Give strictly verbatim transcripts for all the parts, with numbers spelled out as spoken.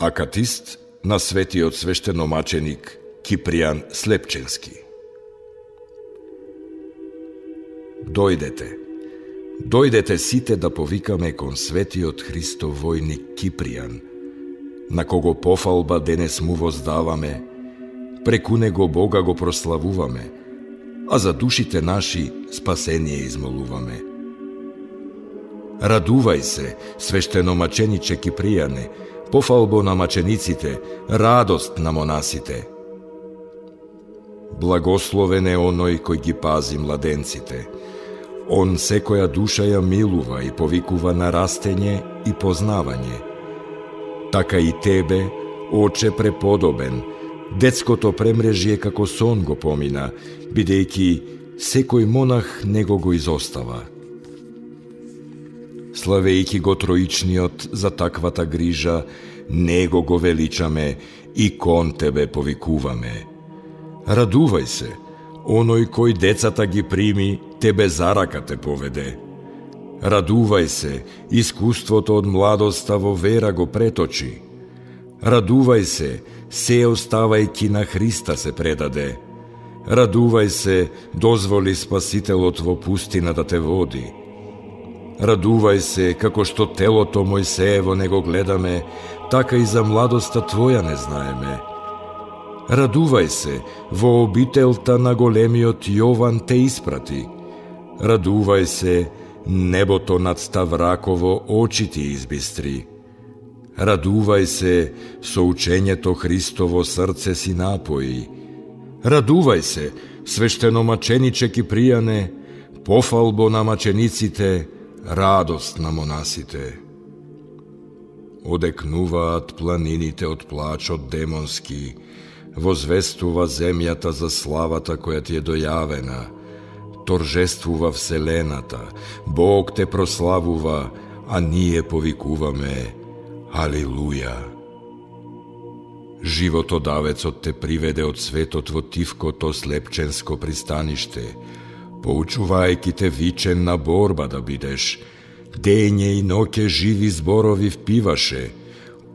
Акатист на светиот свештеномаченик Кипријан Слепченски. Дојдете, дојдете сите да повикаме кон светиот Христов војник Кипријан, на кого пофалба денес му воздаваме, преку него Бога го прославуваме, а за душите наши спасение измолуваме. Радувај се, свештеномачениче Кипријане, пофалбо на мачениците, радост на монасите. Благословен е оној кој ги пази младенците. Он секоја душа ја милува и повикува на растење и познавање. Така и тебе, Оче преподобен, детското премрежје како сон го помина, бидејќи секој монах него го изостава. Славејќи го Троичниот за таквата грижа, него го величаме и кон тебе повикуваме. Радувај се, оној кој децата ги прими, тебе за рака те поведе. Радувај се, искуството од младоста во вера го преточи. Радувај се, се оставајќи на Христа се предаде. Радувај се, дозволи Спасителот во пустина да те води. Радувај се, како што телото Мојсеево не го гледаме, така и за младоста твоја не знаеме. Радувај се, во обителта на големиот Јован те испрати. Радувај се, небото над Ставраково очи ти избистри. Радувај се, со учењето Христово срце си напои. Радувај се, свештеномачениче Кипријане, пофалбо на мачениците, радост на монасите. Одекнуваат планините од плачот демонски, возвестува земјата за славата која ти е дојавена, торжествува вселената, Бог те прославува, а ние повикуваме Алилуја. Животодавецот те приведе од светот во тивкото слепченско пристаниште, поучувајќи те вичен на борба да бидеш, дење и ноќе живи зборови впиваше,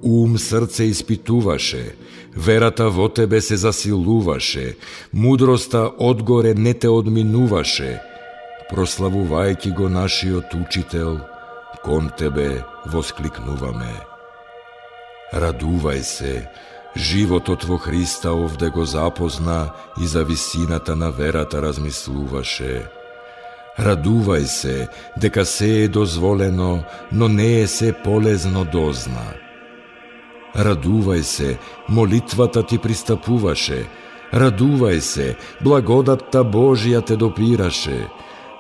ум срце испитуваше, верата во тебе се засилуваше, мудроста одгоре не те одминуваше, прославувајќи го нашиот учител, кон тебе воскликнуваме. Радувај се, животот во Христа овде го запозна и за висината на верата размислуваше. Радувај се, дека се е дозволено, но не е се полезно дозна. Радувај се, молитвата ти пристапуваше. Радувај се, благодатта Божија те допираше.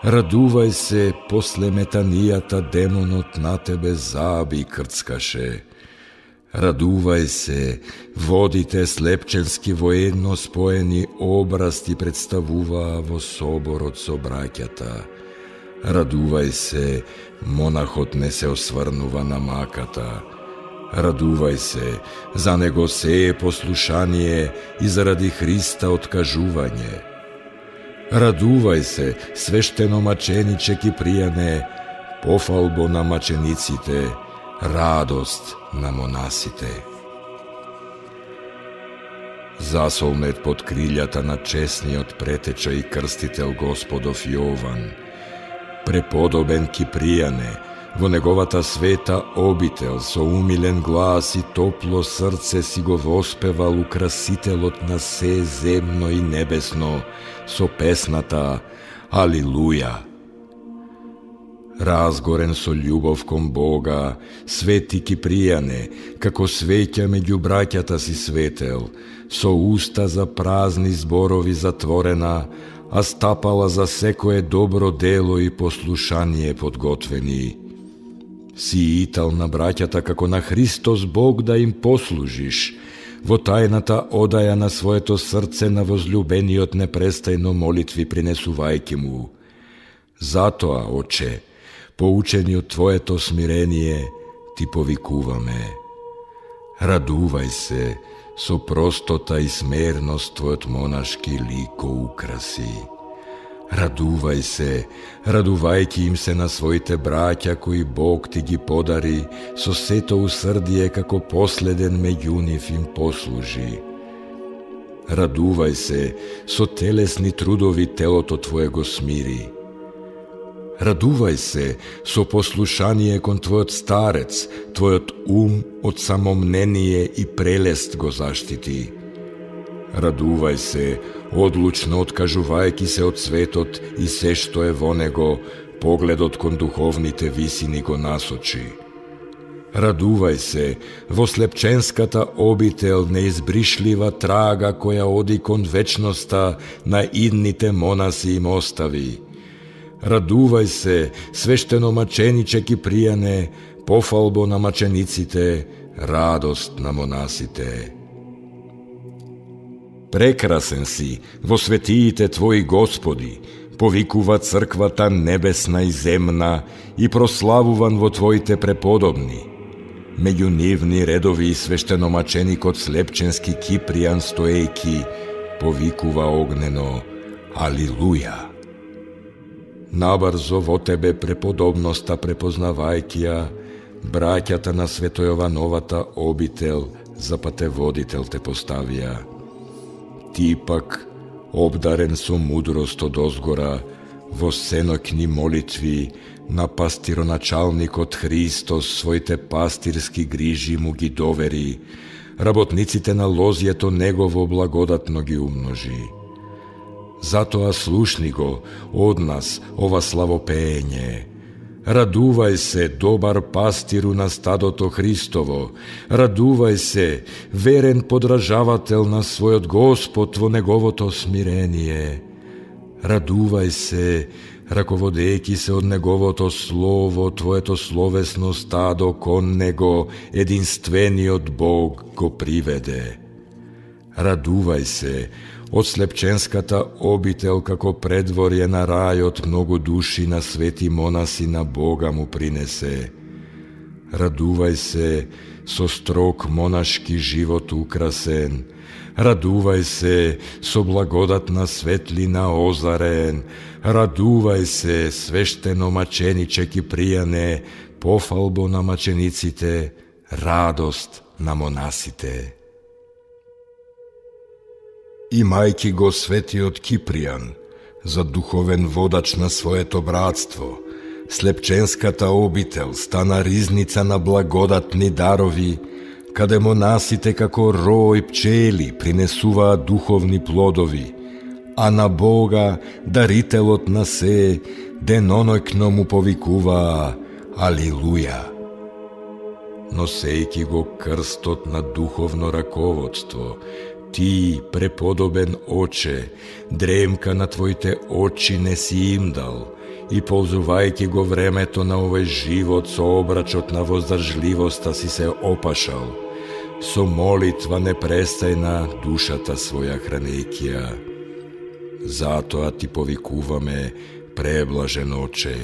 Радувај се, после метанијата демонот на тебе заби крцкаше. Радувај се, водите слепченски воедно споени образ ти представуваа во соборот со браќата. Радувај се, монахот не се осврнува на маката. Радувај се, за него се е послушание и заради Христа откажување. Радувај се, свештеномачениче Кипријане, пофалбо на мачениците, радост на монасите. Засолнет под крилјата на честниот претеча и крстител Господов Јован, преподобен Кипријане, во неговата света обител со умилен глас и топло срце си го воспевал украсителот на се земно и небесно со песната Алилуја. Разгорен со љубов кон Бога, свети Кипријане, како свеќа меѓу браќата си светел, со уста за празни зборови затворена, а стапала за секое добро дело и послушание подготвени. Си итал на браќата како на Христос Бог да им послужиш, во тајната одаја на своето срце на возлюбениот непрестајно молитви принесувајќи му. Затоа, Оче, поучени од Твоето смирение, ти повикуваме. Радувај се, со простота и смерност Твојот монашки лик го украси. Радувај се, радувајќи им се на своите браќа кои Бог ти ги подари, со сето усрдие како последен меѓу нив им послужи. Радувај се, со телесни трудови телото твое го смири. Радувај се, со послушание кон твојот старец, твојот ум од самомнение и прелест го заштити. Радувај се, одлучно откажувајќи се од светот и се што е во него, погледот кон духовните висини го насочи. Радувај се, во слепченската обител неизбришлива трага која оди кон вечноста на идните монаси им остави. Радувај се, свештеномачениче Кипријане, пофалбо на мачениците, радост на монасите. Прекрасен си во светиите Твои Господи, повикува црквата небесна и земна и прославуван во Твоите преподобни. Меѓу нивни редови и свештеномаченикот Слепченски Кипријан стоејки, повикува огнено Алилуја. Набрзо во Тебе преподобноста препознавајќи ја, браќата на Светојовановата обител за патеводител те поставија. Ти пак, обдарен со мудрост од озгора, во сеноќни молитви на пастироначалникот Христос своите пастирски грижи му ги довери, работниците на лозјето Негово благодатно ги умножи. Затоа слушни го од нас ова славопеење. Радувај се, добар пастиру на стадото Христово, радувај се, верен подражавател на својот Господ во Неговото смирение. Радувај се, раководејќи се од Неговото Слово, Твоето словесно стадо кон Него, единствениот Бог го приведе. Радувај се, од слепченската обител како предворје на рајот многу души на свети монаси на Бога му принесе. Радувај се, со строг монашки живот украсен. Радувај се, со благодатна светлина озарен. Радувај се, свештено мачениче Кипријане, пофалбо на мачениците, радост на монасите. Имајќи го светиот Кипријан за духовен водач на своето братство, Слепченската обител стана ризница на благодатни дарови, каде монасите како рој пчели принесуваат духовни плодови, а на Бога, дарителот на се, деноноќно му повикуваа Алилуја. Носејќи го крстот на духовно раководство, Ти, преподобен Оче, дремка на Твоите очи не си им дал и ползувајќи го времето на овој живот со обрачот на воздржливоста си се опашал, со молитва непрестајна душата своја хранејќи ја. Затоа Ти повикуваме, преблажен Оче.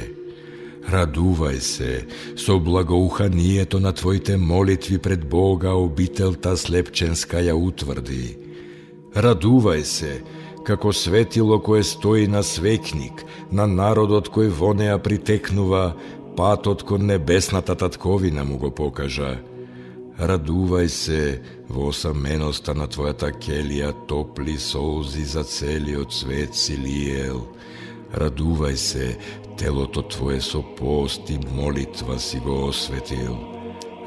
Радувај се, со благоуханието на Твоите молитви пред Бога обителта Слепченска ја утврди. Радувај се, како светило кое стои на свекник, на народот кој во неа притекнува, патот кон небесната татковина му го покажа. Радувај се, во осаменоста на Твојата келија топли солзи за целиот свет си лиел. Радувај се, телото Твое со пост и молитва си го осветил.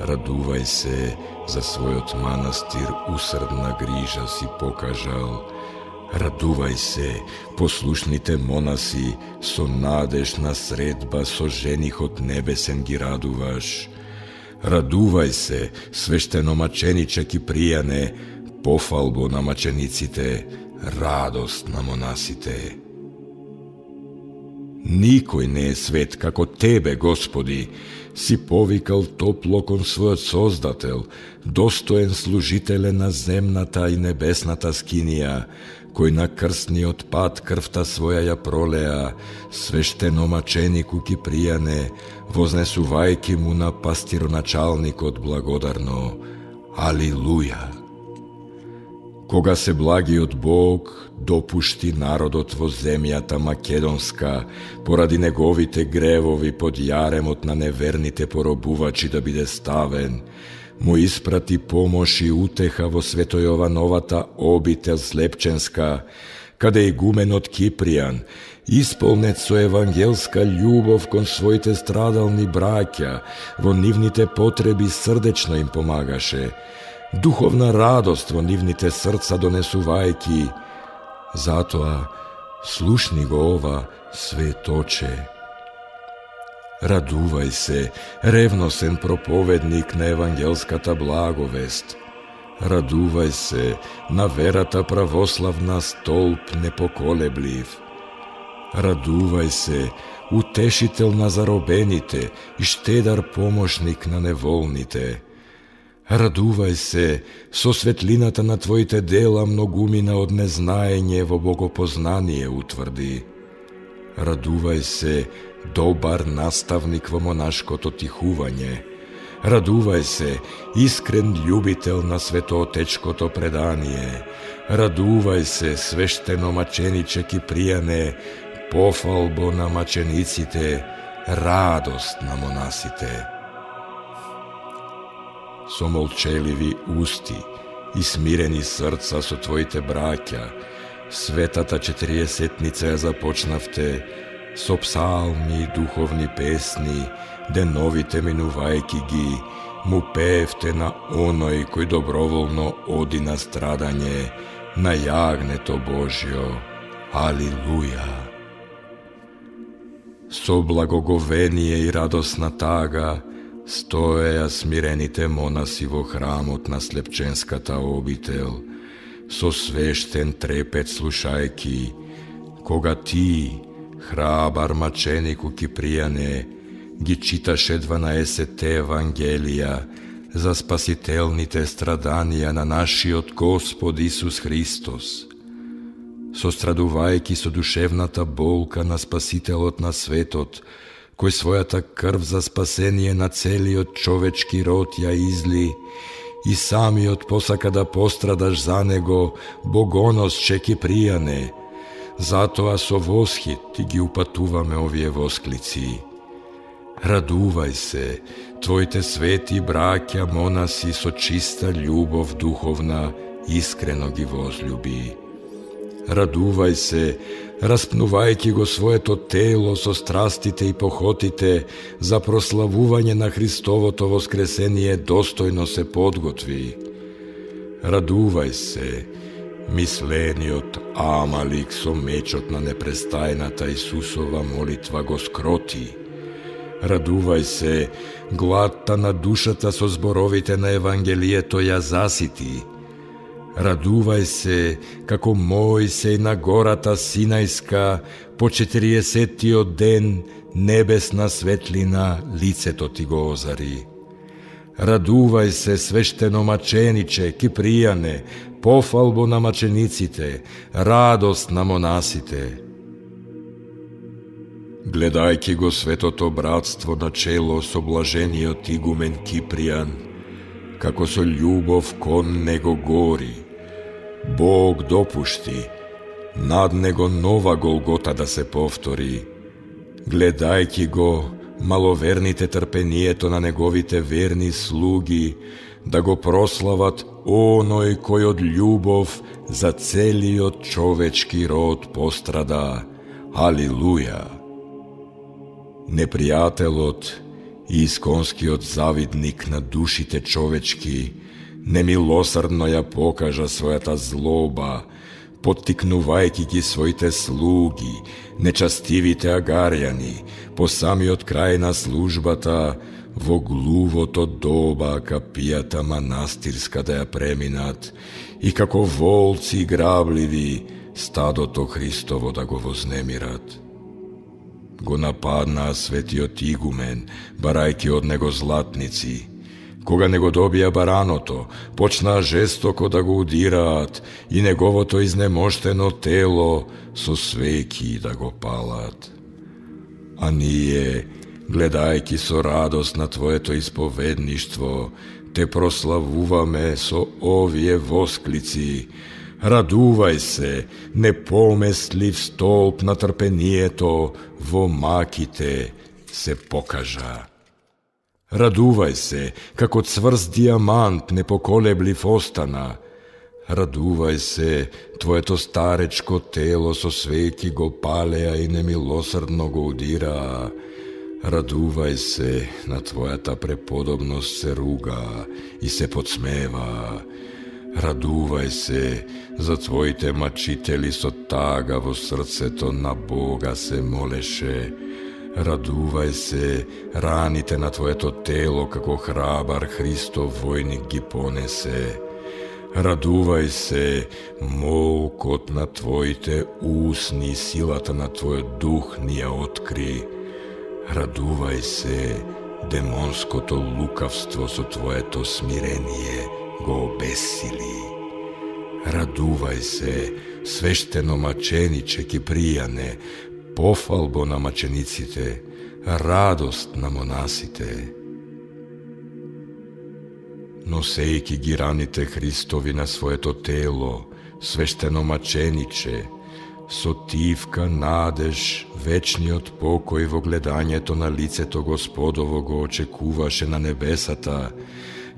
Радувај се, за својот манастир усрдна грижа си покажал. Радувај се, послушните монаси, со надежна средба со женихот небесен ги радуваш. Радувај се, свештеномачениче Кипријане, пофалбо на мачениците, радост на монасите. Никој не е свет како Тебе, Господи, си повикал топло кон својот Создател, достоен служителе на земната и небесната скинија, кој на крстниот пат крвта своја ја пролеа, свештеномаченику Кипријане, вознесувајќи му на пастироначалникот благодарно Алилуја. Кога се благиот Бог допушти народот во земјата македонска поради неговите гревови под јаремот на неверните поробувачи да биде ставен, му испрати помош и утеха во Светојовановата обител Слепченска, каде игуменот Кипријан, исполнет со евангелска љубов кон своите страдални браќа, во нивните потреби срдечно им помагаше, духовна радост во нивните срца донесувајки. Затоа слушни го ова, светоче. Радувај се, ревносен проповедник на евангелската благовест. Радувај се, на верата православна столб непоколеблив. Радувај се, утешител на заробените и штедар помошник на неволните. Радувај се, со светлината на твоите дела многумина од незнаење во богопознание утврди. Радувај се, добар наставник во монашкото тихување. Радувај се, искрен љубител на светоотечкото предание. Радувај се, свештено мачениче Кипријане, пофалбо на мачениците, радост на монасите. Со молчеливи усти и смирени срца со твоите браќа, светата четириесетница ја започнавте со псалми и духовни песни, деновите минувајки ги, му пеевте на оној кој доброволно оди на страдање, на јагнето Божјо. Алилуја! Со благоговение и радосна тага стоеја смирените монаси во храмот на Слепченската обител, со свештен трепет слушајки, кога ти, храбар маченику Кипријане, ги читаше дванаесетте Евангелија за спасителните страданија на нашиот Господ Исус Христос, сострадувајќи со душевната болка на Спасителот на светот, кој својата крв за спасение на целиот човечки род ја изли, и самиот посака да пострадаш за него, богоносче Кипријане. Затоа со восхит ти ги упатуваме овие восклици. Радувај се, твоите свети браќа монаси со чиста љубов духовна искрено ги возлюби. Радувај се, распнувајќи го своето тело со страстите и похотите за прославување на Христовото воскресение достојно се подготви. Радувај се, мислениот Амалик со мечот на непрестајната Исусова молитва го скроти. Радувај се, гладта на душата со зборовите на Евангелието ја засити. Радувај се, како Мојсей на гората Синајска, по четириесеттиот ден небесна светлина лицето ти го озари. Радувај се, свештено мачениче Кипријане, пофалбо на мачениците, радост на монасите. Гледајќи го светото братство на чело со блажениот игумен Кипријан, како со љубов кон него гори, Бог допушти над него нова Голгота да се повтори. Гледајќи го маловерните трпението на неговите верни слуги, да го прослават оној кој од љубов за целиот човечки род пострада. Алилуја! Непријателот и исконскиот завидник на душите човечки немилосрдно ја покажа својата злоба, поттикнувајќи ги своите слуги, нечастивите агарјани, по самиот крај на службата, во глувото доба капијата манастирска да ја преминат и како волци грабливи стадото Христово да го вознемират. Го нападнаа светиот игумен, барајќи од него златници. Кога не го добија бараното, почнаа жестоко да го удираат и неговото изнемоштено тело со свеќи да го палат. А ние, гледајќи со радост на твоето исповедништво, те прославуваме со овие восклици. Радувај се, непоместлив столб на трпението, во маките се покажа. Радувај се, како цврст диамант непоколеблив остана. Радувај се, твоето старечко тело со свеќи го палеа и немилосрдно го удираа. Радувај се, на твојата преподобност се руга и се подсмева. Радувај се, за твоите мачители со тага во срцето на Бога се молеше. Радувај се, раните на твоето тело како храбар Христов војник ги понесе. Радувај се, молкот на твоите усни, силата на твојот дух ни ја откри. Радувај се, демонското лукавство со твоето смирение го обесили. Радувај се, свештено мачениче Кипријане, пофалбо на мачениците, радост на монасите. Носејки ги раните Христови на своето тело, свештено мачениче, со тивка надеж, вечниот покој во гледањето на лицето Господово го очекуваше на небесата,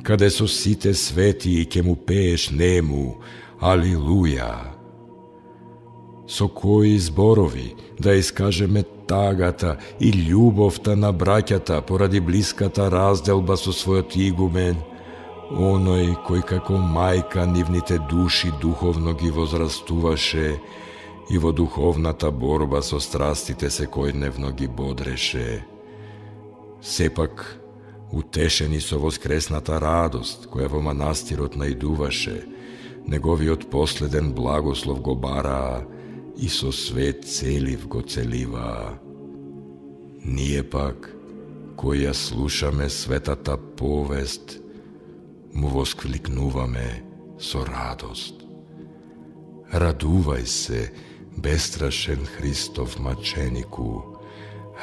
каде со сите свети и ке му пееш нему, Алилуја! Со кои зборови да искажеме тагата и љубовта на браќата поради блиската разделба со својот игумен, оној кој како мајка нивните души духовно ги возрастуваше и во духовната борба со страстите секојдневно ги бодреше. Сепак, утешени со воскресната радост која во манастирот наидуваше, неговиот последен благослов го бараа и со свет целив го целиваа. Ние пак, кои ја слушаме светата повест, му воскликнуваме со радост. Радувај се, бестрашен Христов маченику,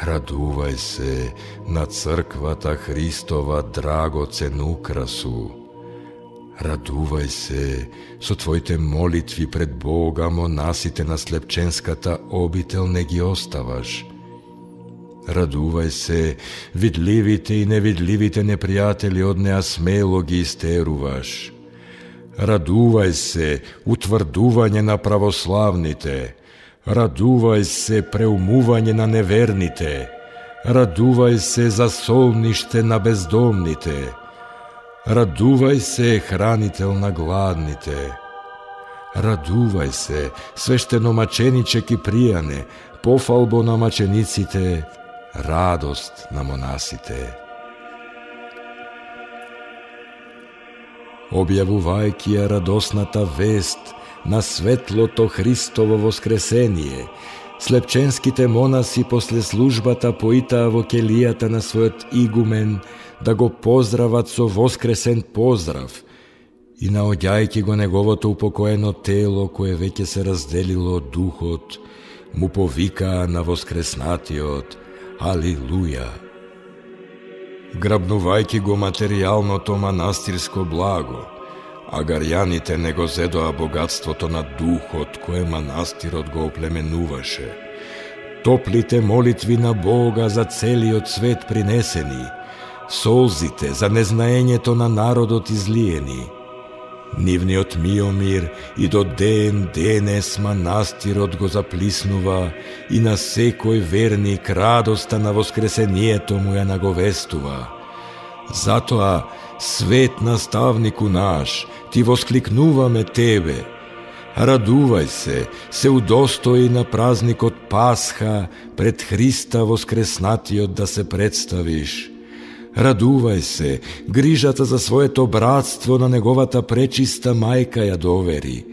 радувај се на црквата Христова драгоцен украсу, радувај се со твоите молитви пред Бога, монасите на слепченската обител не ги оставаш. Радувај се, видливите и невидливите непријатели од неа смело ги истеруваш. Радувај се, утврдување на православните. Радувај се, преумување на неверните. Радувај се, засолниште на бездомните. Радувај се, хранител на гладните. Радувај се, свештено мачениче Кипријане, пофалбо на мачениците, радост на монасите. Објавувајќи ја радосната вест на светлото Христово воскресение, слепченските монаси после службата поитаа во келијата на својот игумен да го поздрават со воскресен поздрав и наоѓајќи го неговото упокоено тело кое веќе се разделило од духот, му повикаа на воскреснатиот Алилуја. Грабнувајќи го материјалното манастирско благо, агарјаните не го зедоа богатството на духот кое манастирот го оплеменуваше. Топлите молитви на Бога за целиот свет принесени, солзите за незнаењето на народот излиени, нивниот миомир и до ден денес манастирот го заплиснува и на секој верник радоста на воскресението му ја наговестува. Затоа, свет наставнику наш, ти воскликнуваме тебе. Радувај се, се удостои на празникот Пасха пред Христа воскреснатиот да се представиш. Радувај се, грижата за своето братство на неговата пречиста мајка ја довери.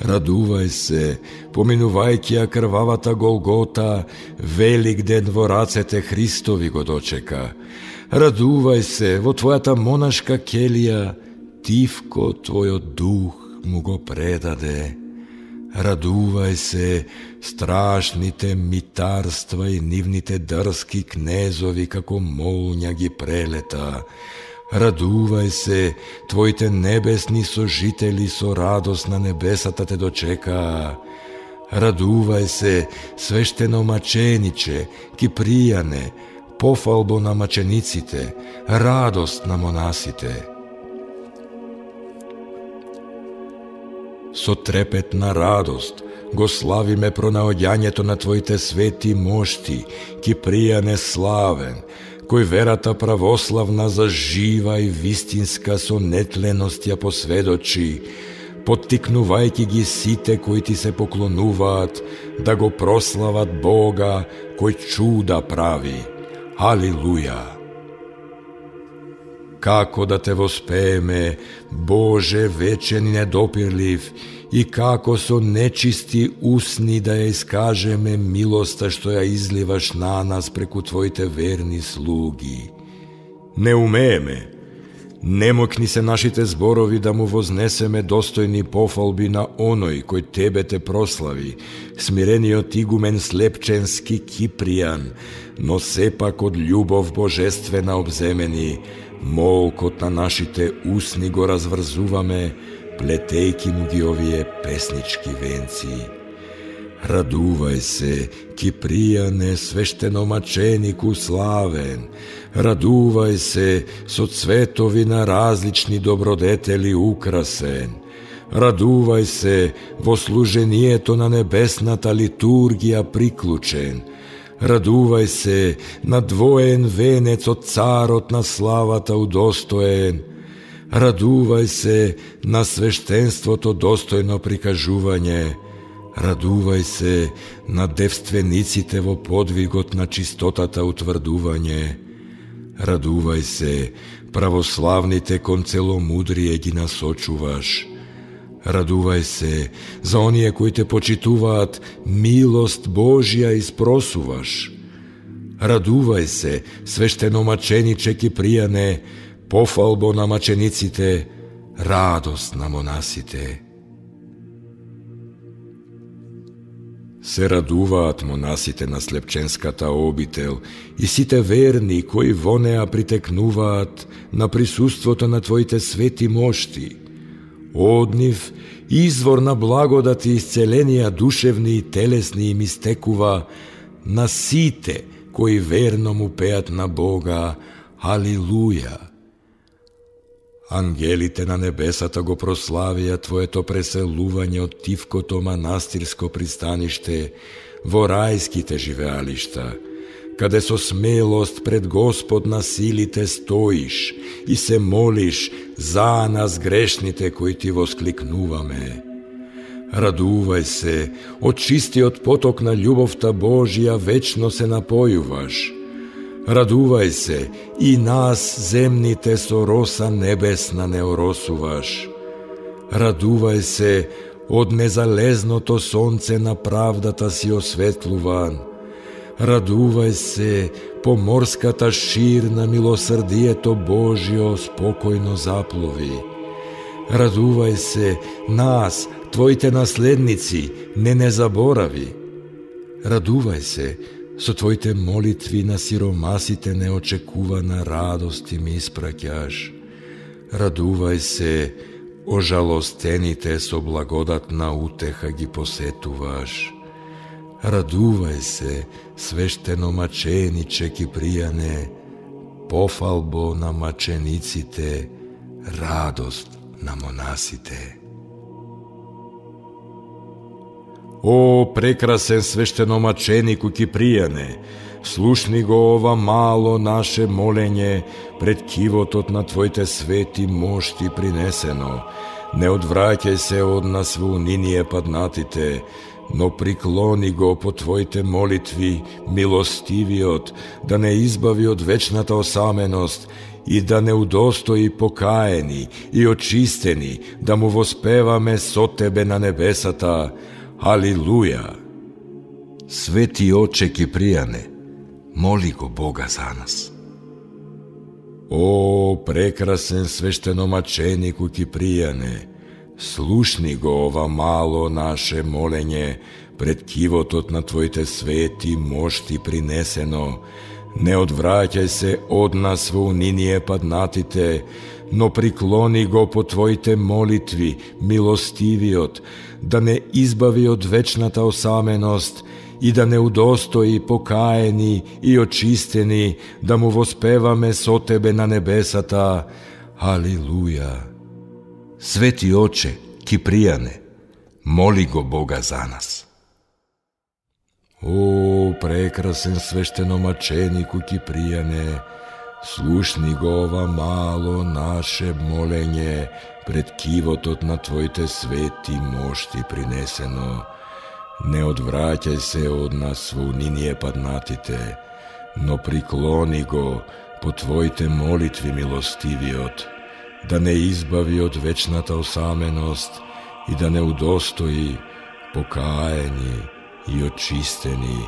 Радувај се, поминувајќи ја крвавата Голгота, велик ден во рацете Христови го дочека. Радувај се, во твојата монашка келија, тивко твојот дух му го предаде. Радувај се, страшните митарства и нивните дрски кнезови како молња ги прелета. Радувај се, твоите небесни сожители со радост на небесата те дочекаа. Радувај се, свештеномачениче, Кипријане, пофалбо на мачениците, радост на монасите. Со трепетна радост го славиме пронаоѓањето на твоите свети мошти, Кипријане славен, кој верата православна за жива и вистинска со нетленост ја посведочи, поттикнувајќи ги сите кои ти се поклонуваат да го прослават Бога кој чуда прави. Алилуја! Како да те воспееме, Боже вечен и недопирлив, и како со нечисти усни да ја искажеме милоста што ја изливаш на нас преку твоите верни слуги. Не умееме, немокни се нашите зборови да му вознесеме достојни пофалби на оној кој тебе те прослави, смирениот игумен Слепченски Кипријан, но сепак од љубов божествена обземени, молкот на нашите усни го разврзуваме, плетејки му ги овие песнички венци. Радувај се, Кипријане, свештеномаченику славен, радувај се, со цветови на различни добродетели украсен, радувај се, во служението на небесната литургија приклучен, радувај се, на двоен венец од царот на славата удостоен, радувај се, на свештенството достојно прикажување, радувај се, на девствениците во подвигот на чистотата утврдување, радувај се, православните кон целомудрие ги насочуваш, радувај се, за оние кои те почитуваат, милост Божја испросуваш, радувај се, свештеномачениче Кипријане, пофалбо на мачениците, радост на монасите. Се радуваат монасите на Слепченската обител и сите верни кои во неа притекнуваат на присуството на твоите свети мошти. Од нив извор на благодат и исцеленија душевни и телесни им истекува на сите кои верно му пеат на Бога. Алилуја! Ангелите на небесата го прославија твоето преселување од Тивкото манастирско пристаниште во рајските живеалишта, каде со смелост пред Господ на силите стоиш и се молиш за нас грешните кои ти воскликнуваме. Радувај се, од чистиот поток на љубовта Божја вечно се напојуваш. Радувај се, и нас земните со роса небесна не оросуваш. Радувај се, од незалезното сонце на правдата си осветлуван. Радувај се, по морската шир на милосрдието Божјо спокојно заплови. Радувај се, нас, твоите наследници, не не заборави. Радувај се, со твоите молитви на сиромасите неочекувана радост им испраќаш. Радувај се, ожалостените со благодатна утеха ги посетуваш. Радувај се, свештеномачениче Кипријане, пофалбо на мачениците, радост на монасите. О, прекрасен свештеномаченику Кипријане, слушни го ова мало наше молење пред кивотот на твоите свети мошти принесено. Не одвраќај се од нас во униние паднатите, но приклони го по твоите молитви милостивиот, да не избави од вечната осаменост и да не удостои покаени и очистени, да му воспеваме со тебе на небесата. Алилуја! Свети оче Кипријане, моли го Бога за нас. О, прекрасен свештеномаченику Кипријане, слушни го ова мало наше молење пред кивотот на твоите свети мошти принесено, Не одвраќај се од нас во униние паднатите, но приклони го по Твоите молитви, милостивиот, да не избави од вечната осаменост и да не удостои покаени и очистени, да му воспеваме со Тебе на небесата. Алилуја! Свети Оче, Кипријане, моли го Бога за нас. О, прекрасен свештеномаченику Кипријане, слушни го ова мало наше молење пред кивотот на Твоите свети мошти принесено. Не одвраќај се од нас во униние паднатите, но приклони го по Твоите молитви милостивиот, да не избави од вечната осаменост и да не удостои покаени и очистени,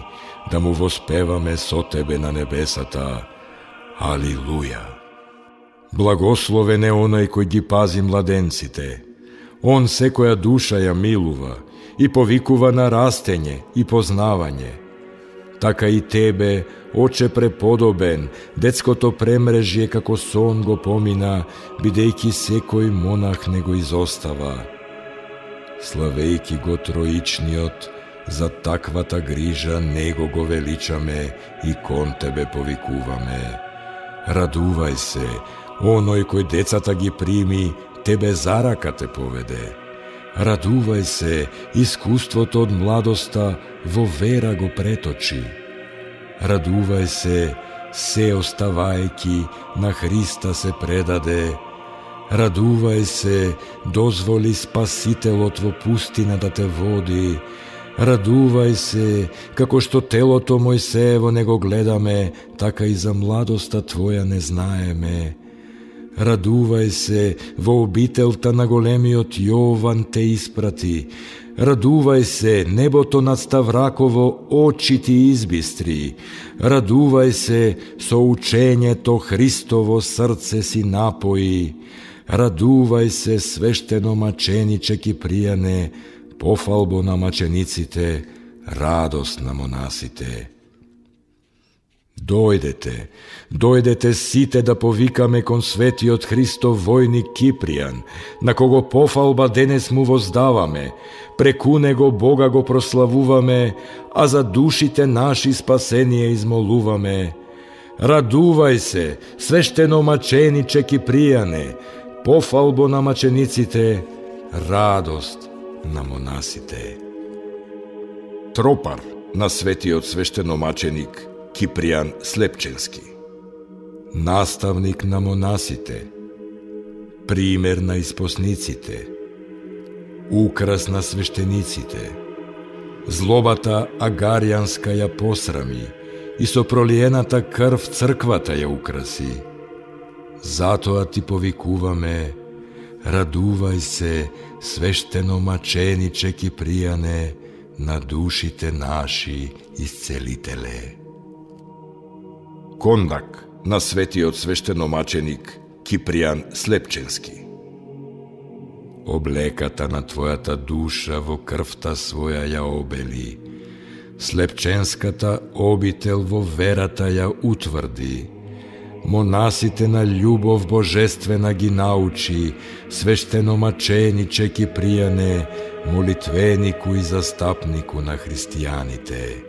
да му воспеваме со Тебе на небесата. Алилуја! Благословен е оној кој ги пази младенците. Он секоја душа ја милува и повикува на растење и познавање. Така и Тебе, Оче преподобен, детското премрежје како сон го помина, бидејќи секој монах не го изостава. Славејќи го Троичниот, за таквата грижа Него го величаме и кон Тебе повикуваме. Радувај се, оној кој децата ги прими, Тебе за рака те поведе. Радувај се, искуството од младоста во вера го преточи. Радувај се, се оставајки на Христа се предаде. Радувај се, дозволи Спасителот во пустина да те води. Радувај се, како што телото Мојсеево не го гледаме, така и за младоста Твоја не знаеме. Радувај се, во обителта на големиот Јован те испрати. Радувај се, небото над Ставраково очи ти избистри. Радувај се, со учењето Христово срце си напои. Радувај се, свештеномачениче Кипријане, пофалбо на мачениците, радост на монасите. Дојдете, дојдете сите да повикаме кон светиот Христов војник Кипријан, на кого пофалба денес му воздаваме, преку него Бога го прославуваме, а за душите наши спасение измолуваме. Радувај се, свештеномачениче Кипријане, пофалбо на мачениците, радост на монасите. Тропар на светиот свештеномаченик Кипријан Слепченски. Наставник на монасите, пример на испосниците, украс на свештениците. Злобата агаријанска ја посрами и со пролиената крв црквата ја украси. Затоа ти повикуваме, радувај се, свештеномачениче Кипријане, на душите наши исцелителе. Кондак на светиот свештеномаченик Кипријан Слепченски. Облеката на твојата душа во крвта своја ја обели, Слепченската обител во верата ја утврди, монасите на љубов божествена ги научи, свештеномачениче Кипријане, молитвенику и застапнику на христијаните.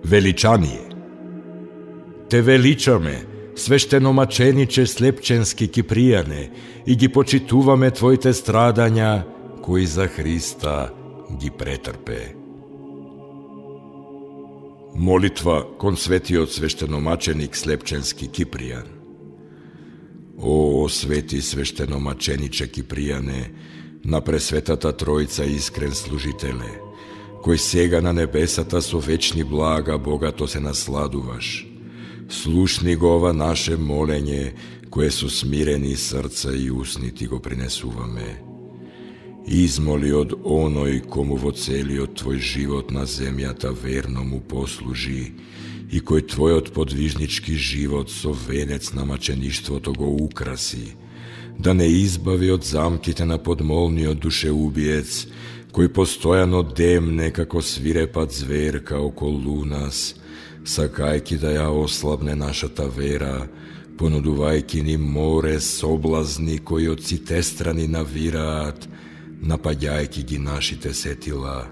Величание. Те величаме, свештеномачениче Слепченски Кипријане, и ги почитуваме Твоите страдања, кои за Христа ги претрпе. Молитва кон светиот свештеномаченик Слепченски Кипријан. О, свети свештеномачениче Кипријане, на Пресветата Тројца искрен служителе, кој сега на небесата со вечни блага богато се насладуваш, слушни го ова наше молење, кое со смирени срца и усни ти го принесуваме. Измоли од оној кому во целиот твој живот на земјата верно му послужи и кој твојот подвижнички живот со венец на мачеништвото го украси, да не избави од замките на подмолниот душеубиец, кој постојано демне како свирепат зверка околу нас, сакајки да ја ослабне нашата вера, понудувајки ни море соблазни кои од сите страни навираат, напаѓајки ги нашите сетила.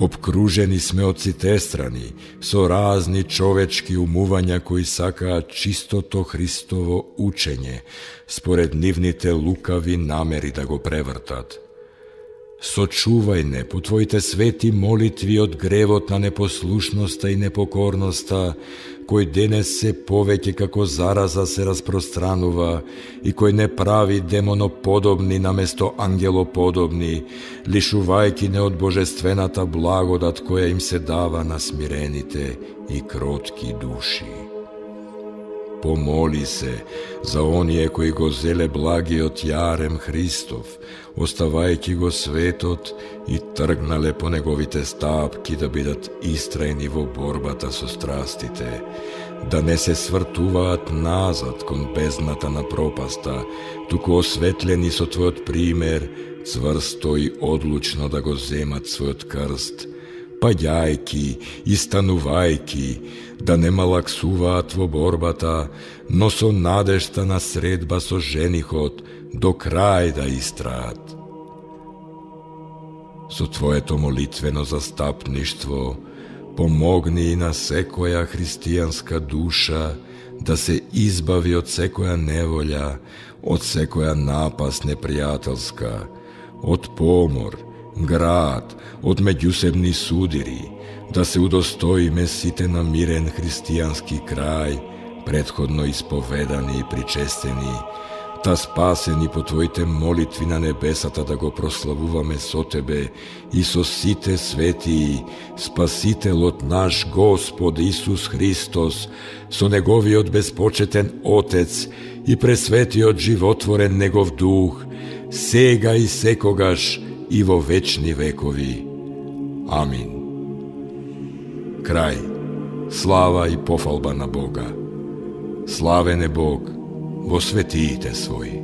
Обкружени сме од сите страни со разни човечки умувања кои сакаат чистото Христово учење, според нивните лукави намери да го превртат. Сочувај не по Твоите свети молитви од гревот на непослушноста и непокорноста, кој денес се повеќе како зараза се распространува и кој не прави демоноподобни наместо ангелоподобни, лишувајќи не од божествената благодат која им се дава на смирените и кротки души. Помоли се за оние кои го зеле благиот јарем Христов, оставајќи го светот и тргнале по неговите стапки да бидат истрајни во борбата со страстите, да не се свртуваат назад кон бездната на пропаста, туку осветлени со Твојот пример, цврсто и одлучно да го земат својот крст, паѓајки и станувајки, да не малаксуваат во борбата, но со надежта на средба со женихот до крај да истраат. Со Твоето молитвено застапништво помогни и на секоја христијанска душа да се избави од секоја неволја, од секоја напаст непријателска, од помор, град, од меѓусебни судири, да се удостоиме сите на мирен христијански крај, предходно исповедани и причестени, та спасени по Твоите молитви на небесата да го прославуваме со Тебе и со сите светии, Спасителот наш Господ Исус Христос, со Неговиот безпочетен Отец и пресветиот животворен Негов Дух, сега и секогаш и во вечни векови. Амин. Крај. Слава и пофалба на Бога. Славен е Бог во светиите своји.